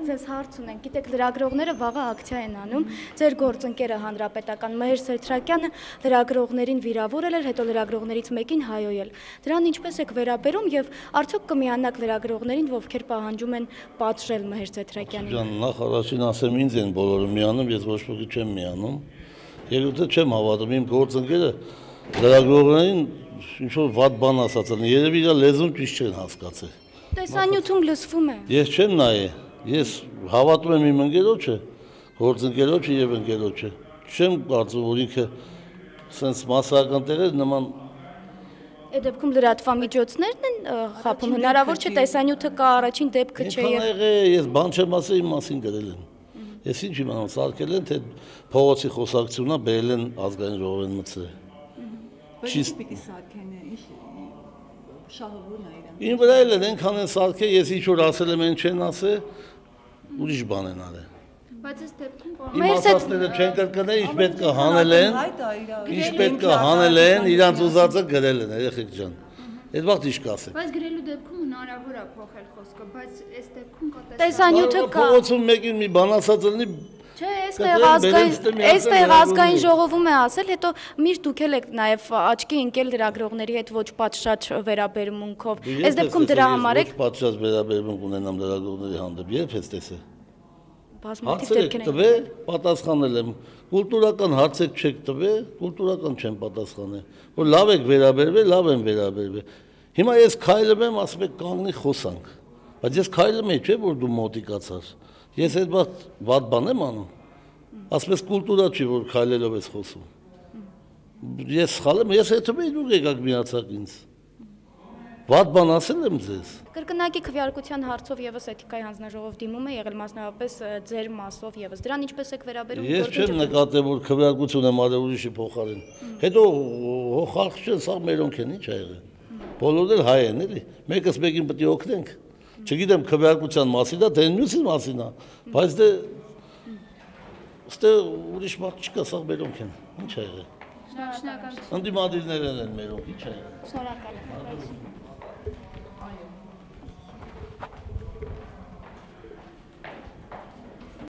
ձեզ հարց ունենք, գիտեք, լրագրողները վաղը ակցիա են անում, ձեր գործընկերը հանրապետական Մհեր Սեդրակյանը լրագրողներին վիրավորել էր, հետո լրագրողներից մեկին հայոյել։ Դրան ինչպես եք վերաբերում եւ արդյոք կմիանաք լրագրողներին, ովքեր պահանջում են պատժել Մհեր Սեդրակյանին։ Նախ առաջին ասեմ, ինձ են բոլորը միանում, ես ոչ ոքի չեմ միանում։ Երկրորդը չեմ հավատում, իմ գործընկերը լրագրողներին ինչ-որ վատ բան ասած են, երևի իր լեզուն ճիշտ չեն հասկացել։ Տեսանյութում լսվում է։ Ես չեմ նայե, ես հավատում եմ իմ ընկերոջը, գործընկերոջը եւ ընկերոջը։ Չեմ կարծում, որ ինքը սենց մասսայական տեղեր նման։ Այդ դեպքում լրատվամիջոցներն են խափում, հնարավոր չէ տեսանյութը կա, առաջին դեպքը չէ։ Ես բան չեմ ասել, իմ մասին գրել են։ Ես ինչ իմանամ, սարքել են, թե փողոցի խոսակցությունա բերել են ազգային ժողովեն մտցրել։ Բայց պիտի սարքեն, ինչ շահովուրն է իրեն։ Ին վրա էլ են այնքան են սարքել, ես ինչ-որ ասել եմ, են չեն ասել, ուրիշ բան են արել։ Բայց այս դեպքում Իմ ասածները չեն կրկնել, ինչ պետք է հանել են, ինչ պետք է հանել են, իրանց ուզածը գրել են, երեխեք ջան։ Այդ վաղ ինչ կասեք։ Բայց գրելու դեպքում հնարավոր է փոխել խոսքը, բայց այս դեպքում կա տեսանյութը կա։ Փողոցում մեկին մի բան ասած լինի։ Չէ, այստեղ ազգային ժողովում է ասել, հետո միշտ դուք եք նաև աչքի ընկել լրագրողների հետ ոչ պատշաճ վերաբերմունքով։ Այս դեպքում դրա համար եք ոչ պատշաճ վերաբերմունք ունենամ լրագրողների հանդեպ, երբ ես տեսել։ Բազմաթիվ դեպքեր են տվել, պատասխանել եմ։ Կուլտուրական հարցեր չեք տվել, կուլտուրական չեմ պատասխանել։ Որ լավ եք վերաբերվել, լավ եմ վերաբերվել։ Հիմա ես քայլում եմ, ասում եք կանգնի խոսանք։ Բայց ես քայլում եմ, չէ՞ որ դու մոտիկացար։ Ես այդ վատ բան եմ անում։ Ասում ես կուլտուրա չի, որ քայլելով ես խոսում։ Ես սխալ եմ, ես հետո դուք եկաք միացաք ինձ։ Վատ բան ասել եմ ձեզ։ Կրկնակի քվեարկության հարցով եւս էթիկայի հանձնաժողով դիմում է եղել մասնավորապես ձեր մասով եւս։ Դրան ինչպես եք վերաբերում։ Ես չեմ նկատել, որ քվեարկություն եմ արել ուրիշի փոխարեն։ Հետո խալք չեն, սա մերոնք են, ինչ ա եղել։ Բոլորն էլ հայ են, էլի։ Մեկս մեկին պետք է օգնենք։ Չգիտեմ քվեարկության մասին է, թե մյուսի մասին է, բայց դե ստե ուրիշ մարդ չկա, սա մերոնք են։ Ինչ ա եղել։ Շնորհակալ։ Ընդդիմադիրներն են մերոնք, ինչ ա եղել։ Շնորհակալ եմ։